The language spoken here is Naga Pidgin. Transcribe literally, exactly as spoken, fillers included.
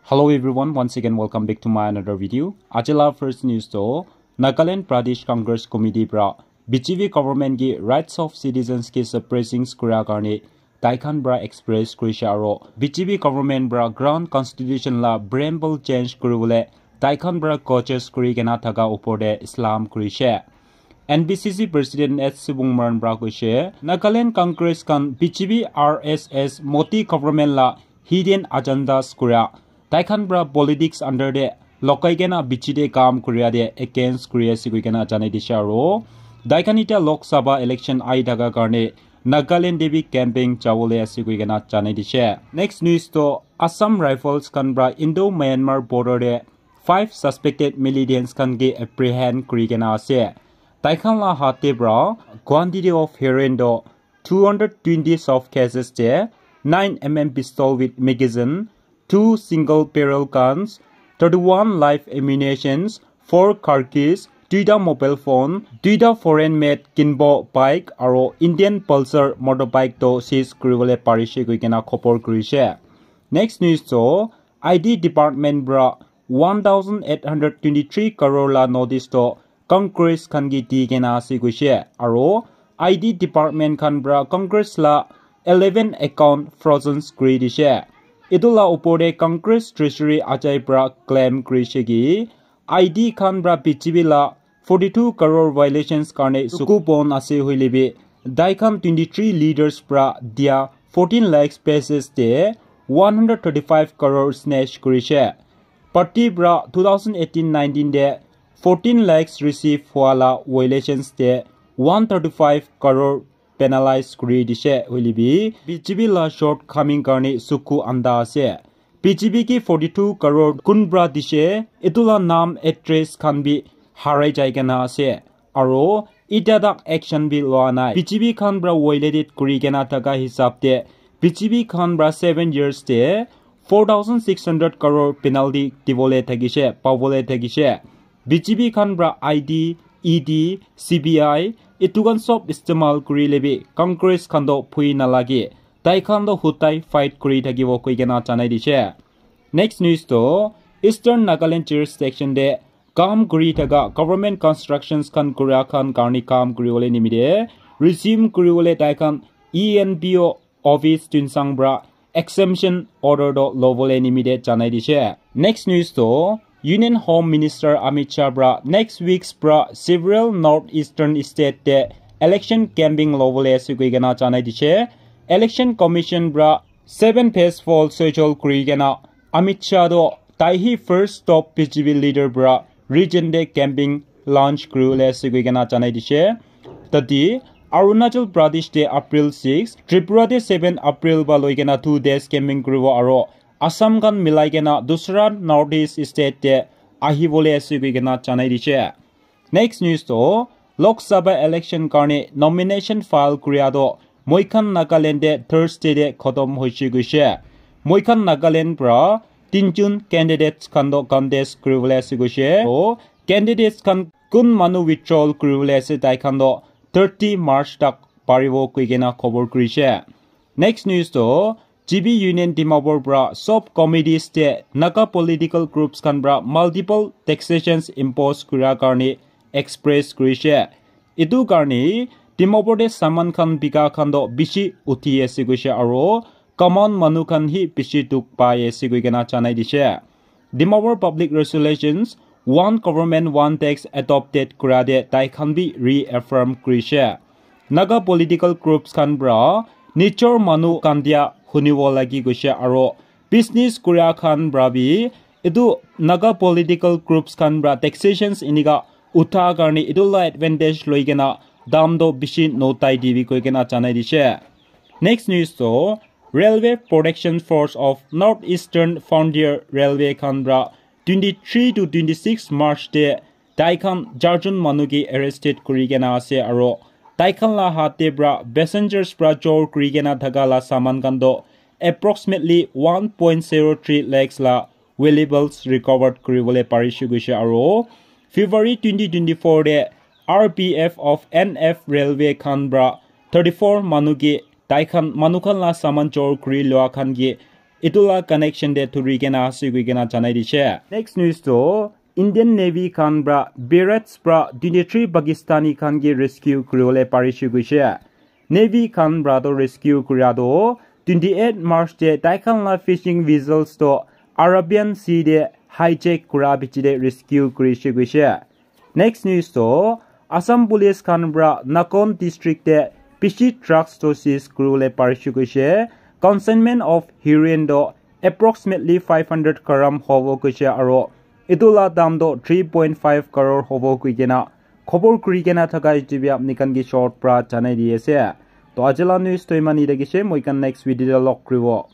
Hello everyone, once again welcome back to my another video. Aji la first news to Nagaland Pradesh Congress Committee pra B J P government ki rights of citizens ki suppressing kuria karne taikhan pra express kurishe aro B J P government pra ground constitution la preamble change kuribole taikhan pra coaches kuri kena thaka upor te Islam kurishe. N B C C President S Sibung Maran pra koishe, Nagaland Congress khan B J P R S S Modi government la hidden agendas kura. Taikhan pra politics under te lokai kena bichi te kam kuria te against kuri ase koi kena janai dishe aro. Taikhan ita Lok Sabha election ai thaka karne Nagaland te bi campaign jawole ase koi kena janai dishe. Next news to Assam Rifles khan pra Indo-Myanmar border te five suspected militants khan ke apprehend kuri kena ase. Taikhan la hat te pra quantity of heroin do two hundred twenty soft cases te nine M M pistol with magazine, two single barrel guns, thirty-one live ammunitions, four car keys, duita mobile phone, duita foreign made Kinbo bike aro Indian Pulsar motorbike to seize kuribole parishe koi kena khobor kurishe. Next news to I D department pra one thousand eight hundred twenty-three crore la notice to Congress khan ki di kena ase koishe aro I D department khan pra Congress la eleven account frozen kuri dishe. Etu la upor te Congress Treasury ajai pra claim kurishe ki I D khan pra B J P la forty-two crore violations karne suku bon ase hoile bi tai khan twenty-three leaders pra dia fourteen lakhs pesos te one hundred thirty-five crore snatch kurishe. Party pra two thousand eighteen nineteen te fourteen lakhs receive hua la violations te one thirty-five crore penalize kuri dishe hoile bi B J P la shortcoming karne suku anda ase. B J P ki forty-two crore kun pra dishe, etu la naam address khan bi harai jai kena ase. Aro ita tak action bi loa nai. B J P khan pra violated kuri kena thaka hisab te B J P khan pra seven years te four thousand six hundred crore penalty dibole thakishe, pabole thakishe. B J P khan pra I D, E D, C B I, etu khan sob istemal kuri le bi Congress khan to phui nalage. Tai khan to hutai fight kuri thakibo koi kena janai dishe. Next news to Eastern Nagaland jurisdiction te kam kuri thaka government constructions khan kuria khan karni kam kuri bole nimite resume kuri bole tai khan E N P O office Tuensang pra exemption order to lobole nimite janai dishe. Next news to Union Home Minister Amit Shah pra next weeks pra several northeastern state te election camping lobole ase koi kena janai dishe. Election Commission pra seven phase poll schedule kuri kena Amit Shah to tai hi first stop B J P leader pra region te camping launch kuri bole ase koi kena janai dishe. Tate Arunachal Pradesh te April six, Tripura te seven April ba loi kena two days camping kuribo aro Assam khan milai kena dusra North East state te ahi bole ase koi kena janai dishe. Next news to Lok Sabha election karne nomination file kuria to moi khan Nagaland te Thursday te khotom hoise koishe. Moi khan Nagaland pra tinjun candidates khan to contest kuribole ase koishe. To candidates khan kun manu withdrawal kuribole ase tai khan to thirty March tak paribo koi kena khobor kurishe. Next news to G B Union Dimapur pra sub committees te Naga political groups khan pra multiple taxations impose kura karne express kurishe. Etu karne Dimapur te saman khan bika khan to bishi uthi ase koishe aro common manu khan hi bishi dukh pai ase koi kena janai dishe. Dimapur Public Resolutions One Government One Tax adopted kura te tai khan bi reaffirm kurishe. Naga political groups khan pra nijor manu khan dia hunibo lagi koishe aro business kuria khan pra bi etu Naga political groups khan pra taxations enika utha karne etu la advantage loi kena dam to bishi notai dibi koi kena janai dishe. Next news to Railway Protection Force of North Eastern Frontier Railway khan pra twenty-three to twenty-six March te tai khan charjon manu ke arrested kuri kena ase aro tai khan la hat te pra passengers pra chor kuri kena thaka la saman khan to approximately one point zero three lakhs la valuables recovered kuri bole parishe koishe aro February twenty twenty-four te R P F of N F Railway khan pra thirty-four manu ke tai khan manu khan la saman chor kuri lua khan ke Etu la connection te thuri kena ase koi kena janai dishe. Next news to Indian Navy khan pra barracks pra twenty-three Pakistani khan ke rescue kuribole parishe koishe. Navy khan pra to rescue kura to twenty-eight March te tai khan la fishing vessels to Arabian Sea te hijack kura bichi te rescue kurishe koishe. Next news to Assam Police khan pra Nakon district te bishi drugs to seize kuribole parishe koishe. Consignment of heroin to approximately five hundred gram hobo koishe aro etu la dam to three point five crore hobo koi kena khobor kuri kena thaka etu bi apni khan ke short pra janai di ase. To aji la news to iman ite kishe, moi khan next video te log kuribo.